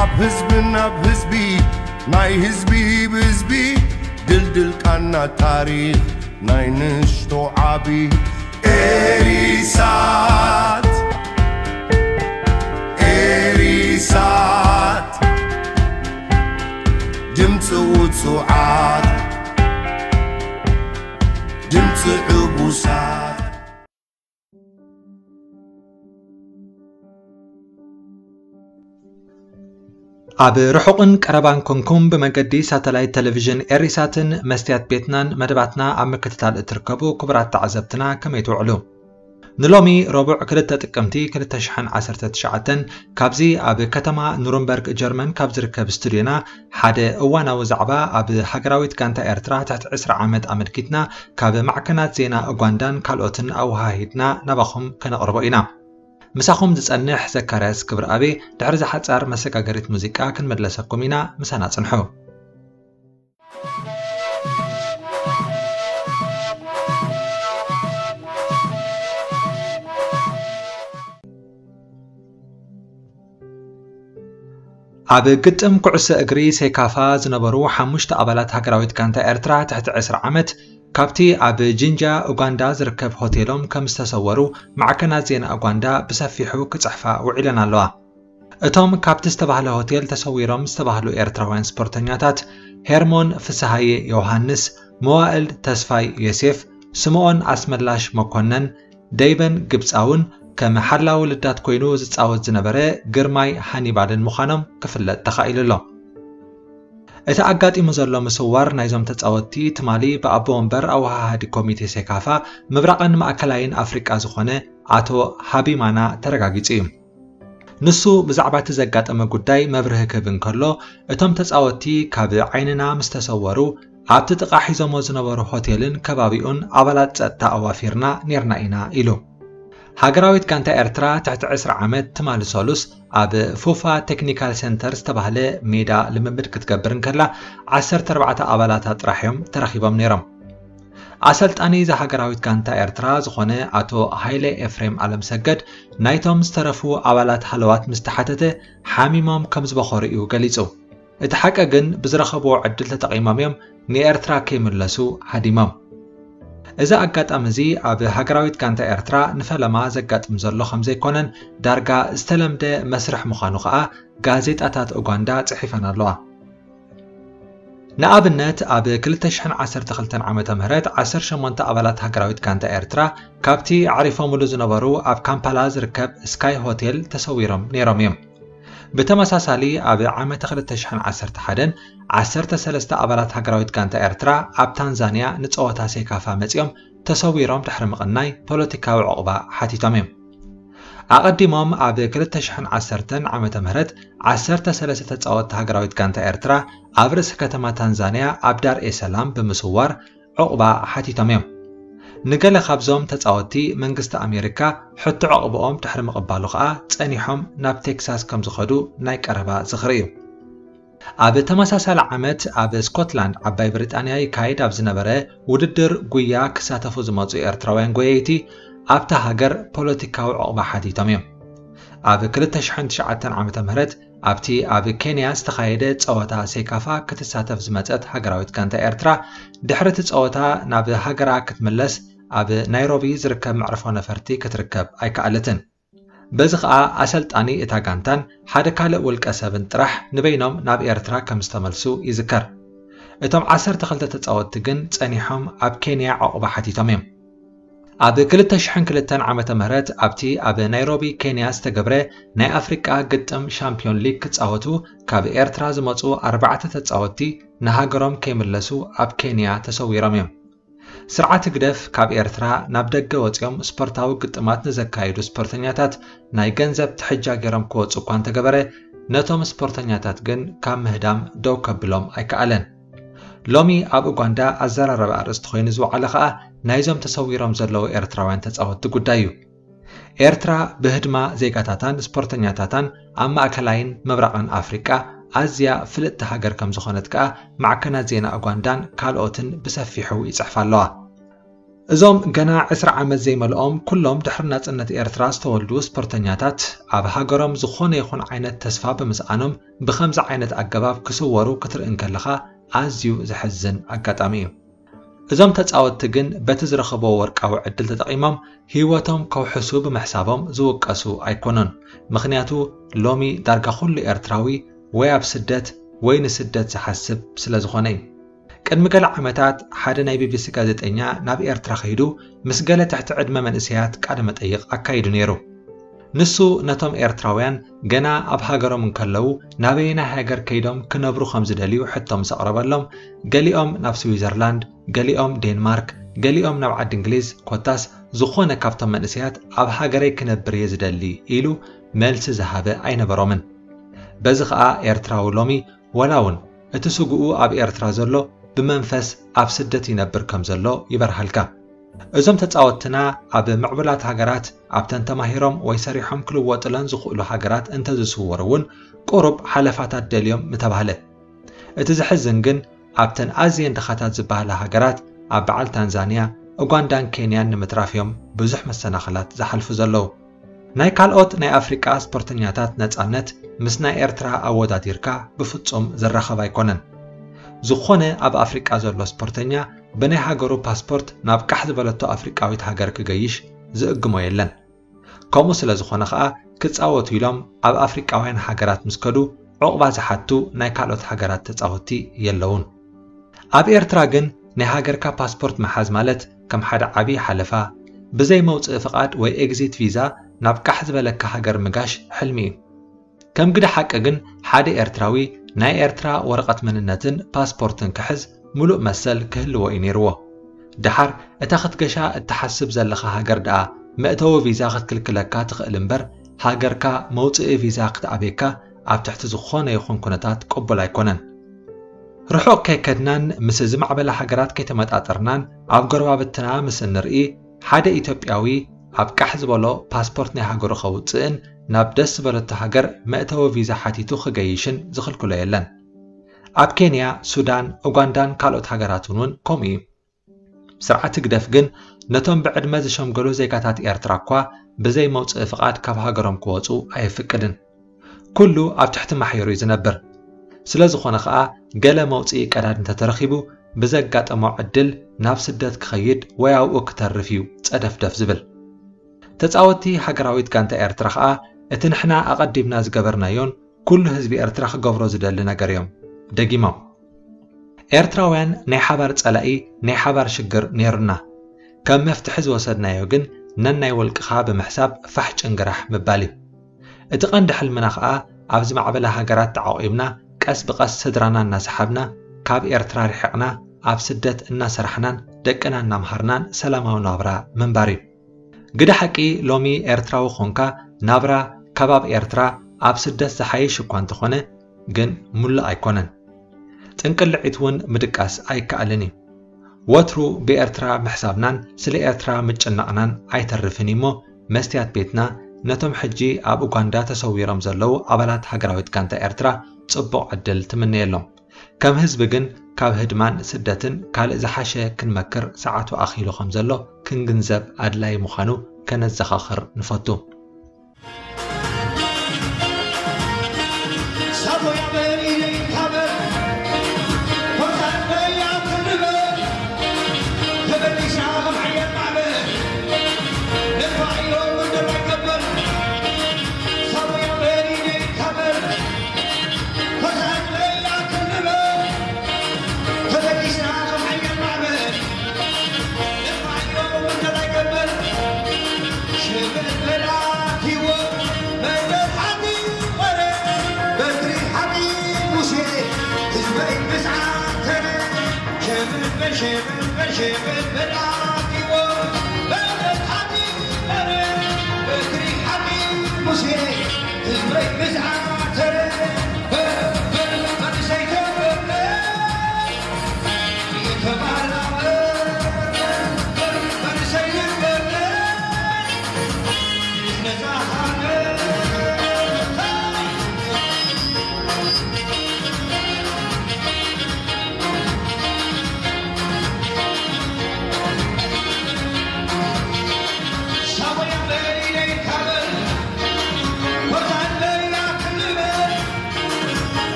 ኣብ ህዝብን ኣብ ህዝቢ ናይ ህዝቢ ብህዝቢ ድልድል ቃና ታሪኽ ናይ ንሽቶ ዓቢ ኤሪሳት ኤሪሳት ድምፂ ውፁዓት ድምፂ ዕቡሳት። ኣብ ርሑቕን ቀረባን ኮንኩም ብመገዲ ሳተላይት ቴሌቪዥን ኤሪሳትን መስትያት ቤትናን መደባትና ኣብ ምክትታል እትርከቡ ክቡራት ተዓዘብትና ከመይ ትውዕሉ? ንሎሚ ረቡዕ ክልተ ጥቅምቲ ክልተ ሽሕን ዓሰርተ ትሽዓተን ካብዚ ኣብ ከተማ ኑርንበርግ ጀርመን ካብ ዝርከብ ስቱድዮና ሓደ እዋናዊ ዛዕባ ኣብ ሃገራዊት ጋንታ ኤርትራ ትሕቲ ዕስራ ዓመት ኣመልኪትና ካብ ማዕከናት ዜና ኡጋንዳን ካልኦትን ኣወሃሂድና ናባኹም ከነቕርቦ ኢና። ምሳኹም ዝጸንሕ ዘካርያስ ክብረኣብ፣ ድሕሪ ዝሓጻር መሰጋገሪት ሙዚቃ ክንምለሰኩም ኢና፣ ምሳና ጽንሑ። ኣብ ግጥም ኩዕሶ እግሪ ሴካፋ ዝነበሩ ሓሙሽተ ኣባላት ሃገራዊት ጋንታ ኤርትራ ትሕቲ ዕስራ ዓመት ካብቲ ኣብ ጂንጃ ኡጋንዳ ዝርከብ ሆቴሎም ከም ዝተሰወሩ ማዕከናት ዜና ኡጋንዳ ብሰፊሑ ክጽሕፋ ውዒለን ኣለዋ። እቶም ካብቲ ዝተባህለ ሆቴል ተሰዊሮም ዝተባህሉ ኤርትራውያን ስፖርተኛታት ሄርሞን ፍስሃየ ዮሃንስ፣ መዋእል ተስፋይ ዮሴፍ፣ ስምኦን ኣስመላሽ መኮነን፣ ደይበን ግብጻውን ከም ሓላዊ ልዳት ኮይኑ ዝጻወት ዝነበረ ግርማይ ሃኒባልን ምዃኖም ክፍለጥ ተኻኢሉ ኣሎ። እቲ ኣጋጢሙ ዘሎ ምስዋር ናይዞም ተጻወትቲ ትማሊ ብኣቦ ወንበር ኣወሃሃዲ ኮሚቴ ሴካፋ ምብራቕን ማእከላይን ኣፍሪቃ ዝኾነ ኣቶ ሃቢማና ተረጋጊጹ እዩ። ንሱ ብዛዕባ እቲ ዘጋጠመ ጉዳይ መብርሂ ክህብ እንከሎ፣ እቶም ተጻወትቲ ካብ ዓይንና ምስ ተሰወሩ ኣብቲ ጥቓ ሒዞሞ ዝነበሩ ሆቴልን ከባቢኡን ኣባላት ጸጥታ ኣዋፊርና ኔርና ኢና ኢሉ። ሃገራዊት ጋንታ ኤርትራ ትሕቲ ዕስራ ዓመት ትማሊ ሰሉስ ኣብ ፉፋ ቴክኒካል ሴንተር ዝተባህለ ሜዳ ልምምድ ክትገብር እንከላ ዓሰርተ ኣርባዕተ ኣባላታ ጥራሕ እዮም ተረኺቦም ነይሮም። ኣሰልጣኒ እዛ ሃገራዊት ጋንታ ኤርትራ ዝኾነ ኣቶ ሃይለ ኤፍሬም ኣለምሰገድ ናይቶም ዝተረፉ ኣባላት ሃለዋት ምስ ተሓተተ ሓሚሞም ከም ዝበኾሩ እዩ ገሊጹ። እቲ ሓቂ ግን ብዝረኸብዎ ዕድል ተጠቒሞም እዮም ንኤርትራ ከይምለሱ ሃዲሞም። እዚ ኣጋጣሚ እዚ ኣብ ሃገራዊት ጋንታ ኤርትራ ንፈለማ ዘጋጥም ዘሎ ከም ዘይኮነን ዳርጋ ዝተለምደ መስርሕ ምዃኑ ከኣ ጋዜጣታት ኡጋንዳ ጽሒፈን ኣለዋ። ንኣብነት ኣብ ክልተ ሽሕን ዓሰርተ ክልተን ዓመተ ምህረት ዓሰርተ ሸሞንተ ኣባላት ሃገራዊት ጋንታ ኤርትራ ካብቲ ኣዕሪፎምሉ ዝነበሩ ኣብ ካምፓላ ዝርከብ ስካይ ሆቴል ተሰዊሮም ነይሮም እዮም። ብተመሳሳሊ ኣብ ዓመተ ክልተ ሽሕን ዓሰርተ ሓደን ዓሰርተ ሰለስተ ኣባላት ሃገራዊት ጋንታ ኤርትራ ኣብ ታንዛንያ ንጸወታ ሴካፋ መጺኦም ተሰዊሮም ድሕሪ ምቕናይ ፖለቲካዊ ዕቑባ ሓቲቶም እዮም። ኣቐዲሞም ኣብ ክልተ ሽሕን ዓሰርተን ዓመተ ምህረት ዓሰርተ ሰለስተ ተጻወትቲ ሃገራዊት ጋንታ ኤርትራ ኣብ ርእሲ ከተማ ታንዛንያ ኣብ ዳር ኤ ሰላም ብምስዋር ዕቑባ ሓቲቶም እዮም። ንገለ ካብዞም ተጻወትቲ መንግስቲ ኣሜሪካ ሕቶ ዕቑባኦም ድሕሪ ምቕባሉ ከኣ ጸኒሖም ናብ ቴክሳስ ከም ዝኸዱ ናይ ቀረባ ዝኽሪ እዩ። ኣብ ተመሳሳሊ ዓመት ኣብ ስኮትላንድ ዓባይ ብሪጣንያ ይካየድ ኣብ ዝነበረ ውድድር ጉያ ክሳተፉ ዝመጹ ኤርትራውያን ጎየይቲ ኣብታ ሃገር ፖለቲካዊ ዕቑባ ሓቲቶም እዮም። ኣብ ክልተ ሽሕን ትሽዓተን ዓመተ ምህረት ኣብቲ ኣብ ኬንያ ዝተኻየደ ጸወታ ሴካፋ ክትሳተፍ ዝመጸት ሃገራዊት ጋንታ ኤርትራ ድሕሪ እቲ ጸወታ ናብ ሃገራ ክትምለስ ኣብ ናይሮቢ ዝርከብ መዕርፎ ነፈርቲ ክትርከብ ኣይከኣለትን። በዚ ኸኣ ኣሰልጣኒ እታ ጋንታን ሓደ ካልእ ውልቀ ሰብን ጥራሕ ንበይኖም ናብ ኤርትራ ከም ዝተመልሱ ይዝከር። እቶም ዓሰርተ ክልተ ተጻወትቲ ግን ጸኒሖም ኣብ ኬንያ ዕቑባ ሓቲቶም እዮም። ኣብ ክልተ ሽሕን ክልተን ዓመተ ምህረት ኣብቲ ኣብ ናይሮቢ ኬንያ ዝተገብረ ናይ ኣፍሪቃ ግጥም ሻምፒዮን ሊግ ክጻወቱ ካብ ኤርትራ ዝመጹ ኣርባዕተ ተጻወትቲ ንሃገሮም ከይምለሱ ኣብ ኬንያ ተሰዊሮም እዮም። ስርዓት ህግደፍ ካብ ኤርትራ ናብ ደገ ወጺኦም ስፖርታዊ ግጥማት ንዘካየዱ ስፖርተኛታት ናይ ገንዘብ ትሕጃ ገይሮም ክወጹ እኳ እንተገበረ፣ ነቶም ስፖርተኛታት ግን ካብ ምህዳም ደው ከብሎም ኣይከኣለን። ሎሚ ኣብ ኡጋንዳ ኣዘራረቢ ኣርእስቲ ኮይኑ ዝወዓለ ከኣ ናይዞም ተሰዊሮም ዘለዉ ኤርትራውያን ተጻወትቲ ጉዳይ እዩ። ኤርትራ ብህድማ ዜጋታታን ስፖርተኛታታን ኣብ ማእከላይን ምብራቕን ኣፍሪቃ ኣዝያ ፍልጥቲ ሃገር ከም ዝኾነት ከኣ ማዕከናት ዜና ኡጋንዳን ካልኦትን ብሰፊሑ ይጽሕፋ ኣለዋ። እዞም ገና ዕስራ ዓመት ዘይመልኦም ኩሎም ድሕሪ ናጽነት ኤርትራ ዝተወልዱ ስፖርተኛታት ኣብ ሃገሮም ዝኾነ ይኹን ዓይነት ተስፋ ብምስኣኖም ብኸምዚ ዓይነት ኣገባብ ክስወሩ ክትርኢ እንከለኻ ኣዝዩ ዘሕዝን ኣጋጣሚ እዩ። እዞም ተጻወትቲ ግን በቲ ዝረኸብዎ ወርቃዊ ዕድል ተጠቒሞም ህይወቶም ከውሕሱ ብምሕሳቦም ዝውቀሱ ኣይኮኑን። ምኽንያቱ ሎሚ ዳርጋ ኩሉ ኤርትራዊ ወይ ኣብ ስደት ወይ ንስደት ዝሓስብ ስለ ዝኾነ እዩ። ቅድሚ ገለ ዓመታት ሓደ ናይ ቢቢሲ ጋዜጠኛ ናብ ኤርትራ ከይዱ ምስ ገለ ትሕቲ ዕድመ መንእሰያት ቃለ መጠይቕ ኣካይዱ ነይሩ። ንሱ ነቶም ኤርትራውያን ገና ኣብ ሃገሮም እንከለዉ ናበየናይ ሃገር ከይዶም ክነብሩ ከም ዝደልዩ ሕቶ ምስ ኣቕረበሎም፣ ገሊኦም ናብ ስዊዘርላንድ፣ ገሊኦም ዴንማርክ፣ ገሊኦም ናብ ዓዲ እንግሊዝ፣ ኮታስ ዝኾነ ካብቶም መንእሰያት ኣብ ሃገረይ ክነብር እየ ዝደሊ ኢሉ መልሲ ዝሃበ ኣይነበሮምን። በዚ ኸኣ ኤርትራዊ ሎሚ ዋላ እውን እቲ ስግኡ ኣብ ኤርትራ ዘሎ ብመንፈስ ኣብ ስደት ይነብር ከም ዘሎ ይበርሃልካ። እዞም ተጻወትትና ኣብ ምዕቡላት ሃገራት ኣብተን ተማሂሮም ወይ ሰሪሖም ክልወጡለን ዝኽእሉ ሃገራት እንተዝስወሩ እውን ቁሩብ ሓለፋታት ደልዮም ምተባህለ። እቲ ዘሕዝን ግን ኣብተን ኣዝየን ድኻታት ዝበሃላ ሃገራት ኣብ በዓል ታንዛንያ፣ ኡጋንዳን ኬንያን ንምትራፍ እዮም ብዙሕ መሰናኽላት ዝሓልፉ ዘለዉ። ናይ ካልኦት ናይ ኣፍሪቃ ስፖርተኛታት ነጻነት ምስ ናይ ኤርትራ ኣወዳዲርካ ብፍጹም ዝራኸብ ኣይኮነን። ዝኾነ ኣብ ኣፍሪቃ ዘሎ ስፖርተኛ ብናይ ሃገሩ ፓስፖርት ናብ ቃሕ ዝበለቶ ኣፍሪቃዊት ሃገር ክገይሽ ዝእግሞ የለን። ከምኡ ስለ ዝኾነ ኸኣ ክጻወቱ ኢሎም ኣብ ኣፍሪቃውያን ሃገራት ምስ ከዱ ዑቕባ ዝሓቱ ናይ ካልኦት ሃገራት ተጻወትቲ የለውን። ኣብ ኤርትራ ግን ናይ ሃገርካ ፓስፖርት ምሓዝ ማለት ከም ሓደ ዓቢ ሓለፋ፣ ብዘይ መውጽኢ ፍቓድ ወይ ኤግዚት ቪዛ ናብ ቃሕ ዝበለካ ሃገር ምጋሽ ሕልሚ እዩ። ከም ግደ ሓቂ ግን ሓደ ኤርትራዊ ናይ ኤርትራ ወረቐት መንነትን ፓስፖርትን ክሕዝ ምሉእ መሰል ክህልዎ እዩ ነይርዎ። ደሓር እታ ክትገሻ እትሓስብ ዘለኻ ሃገር ደኣ መእተዊ ቪዛ ክትክልክለካ ትኽእል እምበር፣ ሃገርካ መውጽኢ ቪዛ ክትኣብየካ ኣብ ትሕቲ ዝኾነ ይኹን ኩነታት ቅቡል ኣይኮነን። ርሑቕ ከይከድናን ምስ ዝማዕበላ ሃገራት ከይተመጣጠርናን ኣብ ጎረባብትና ምስ እንርኢ፣ ሓደ ኢትዮጵያዊ ኣብ ቃሕ ዝበሎ ፓስፖርት ናይ ሃገሩ ከውጽእን ናብ ደስ ዝበለቶ ሃገር መእተዊ ቪዛ ሓቲቱ ክገይሽን ዝኽልክሎ የለን። ኣብ ኬንያ፣ ሱዳን፣ ኡጋንዳን ካልኦት ሃገራትን እውን ከምኡ እዩ። ስርዓት ህግደፍ ግን ነቶም ብዕድመ ዝሸምገሉ ዜጋታት ኤርትራ እኳ ብዘይ መውጽኢ ፍቓድ ካብ ሃገሮም ክወጹ ኣየፍቅድን። ኩሉ ኣብ ትሕቲ ማሕየሩ እዩ ዝነብር። ስለ ዝኾነ ኸኣ ገለ መውጽኢ ቀዳድ እንተተረኺቡ ብዘጋጠሞ ዕድል ናብ ስደት ክኸይድ ወይ ኣብኡ ክተርፍ እዩ ጸደፍደፍ ዝብል። ተጻወትቲ ሃገራዊት ጋንታ ኤርትራ ኸኣ እቲ ንሕና ኣቐዲምና ዝገበርናዮን ኩሉ ህዝቢ ኤርትራ ክገብሮ ዝደሊ ነገር እዮም ደጊሞም። ኤርትራውያን ናይ ሓባር ጸላኢ፣ ናይ ሓባር ሽግር ነይሩና። ከም መፍትሒ ዝወሰድናዮ ግን ነናይ ውልቅኻ ብምሕሳብ ፋሕ ጭንግራሕ ምባል እዩ። እቲ ቀንዲ ሕልምና ኸኣ ኣብ ዝማዕበላ ሃገራት ተዓቒብና ቀስ ብቐስ ስድራና እናሰሓብና ካብ ኤርትራ ርሒቕና ኣብ ስደት እናሰራሕናን ደቅና እናምሃርናን ሰላማዊ ናብራ ምንባር እዩ። ግደ ሓቂ ሎሚ ኤርትራዊ ኾንካ ናብራ ከባብ ኤርትራ ኣብ ስደት ዝሓይሽ እኳ እንተኾነ ግን ሙሉእ ኣይኮነን። ጥንቅልዒት እውን ምድቃስ ኣይከኣልን እዩ። ወትሩ ብኤርትራ ምሕሳብናን ስለ ኤርትራ ምጭናቕናን ኣይተርፍን እዩ እሞ መስትያት ቤትና ነቶም ሕጂ ኣብ ኡጋንዳ ተሰዊሮም ዘለዉ ኣባላት ሃገራዊት ጋንታ ኤርትራ ጽቡቕ ዕድል ትምነየሎም። ከም ህዝቢ ግን ካብ ህድማን ስደትን ካልእ ዝሓሸ ክንመክር ሰዓቱ ኣኺሉ ከም ዘሎ ክንግንዘብ ኣድላዪ ምዃኑ ከነዘኻኽር ንፈቱ።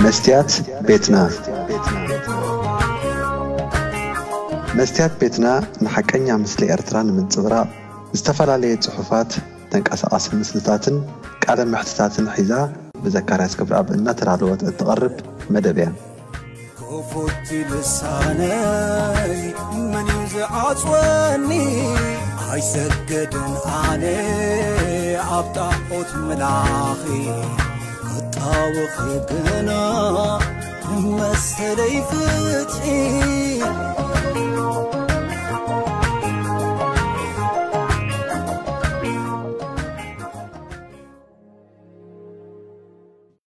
መስትያት ቤትና። መስትያት ቤትና ንሓቀኛ ምስሊ ኤርትራ ንምንጽብራቕ ዝተፈላለየ ጽሑፋት፣ ተንቀሳቓሲ ምስልታትን ቃለ መሕትታትን ሒዛ ብዘካርያስ ክብረኣብ እናተዳለወት እትቐርብ መደብ እያ። ክፉት ልሳነይ መን እዩ ዝዓጽወኒ? ኣይሰገድን ኣነ ኣብ ጣዖት ምላኺ ክጣወኺ ግና መሰለይ ፍትሒ